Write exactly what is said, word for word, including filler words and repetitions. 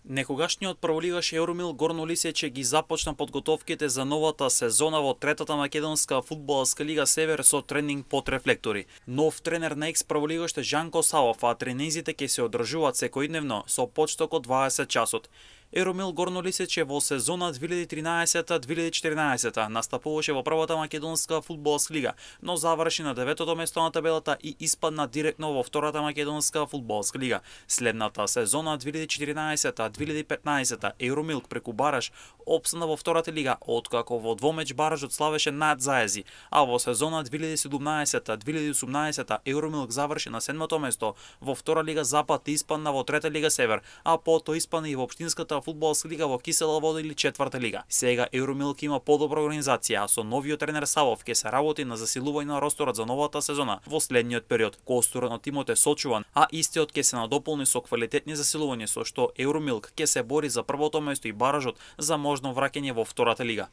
Некогашниот прволигаш Еуромил Горно Лисиче ги започна подготовките за новата сезона во третата македонска фудбалска лига Север со тренинг под рефлектори. Нов тренер на екс прволигаш е Жанко Савов, а тренинзите ќе се одржуваат секојдневно со почеток од дваесет часот. Еуромил Горно Лисиче во сезона две илјади и тринаесета две илјади и четиринаесета настапуваше во првата македонска фудбалска лига, но заврши на деветото место на табелата и испадна директно во втората македонска фудбалска лига. Следната сезона две илјади и четиринаесета две илјади и петнаесета Еуромил преку бараж опстана во втората лига, откако во двомеч баражот славеше над Заези, а во сезона две илјади и седумнаесета две илјади и осумнаесета Еуромил заврши на седмото место во втора лига Запад и испадна во трета лига Север, а потоа испадна и во општинската фудбалска лига во Кисела Вода или четврта лига. Сега Еуромил има подобра организација, а со новиот тренер Савов ќе се работи на засилување на росторот за новата сезона во следниот период. Костурот на тимот е сочуван, а истиот ќе се надополни со квалитетни засилувања, со што Еуромил ќе се бори за првото место и баражот за можно враќање во втората лига.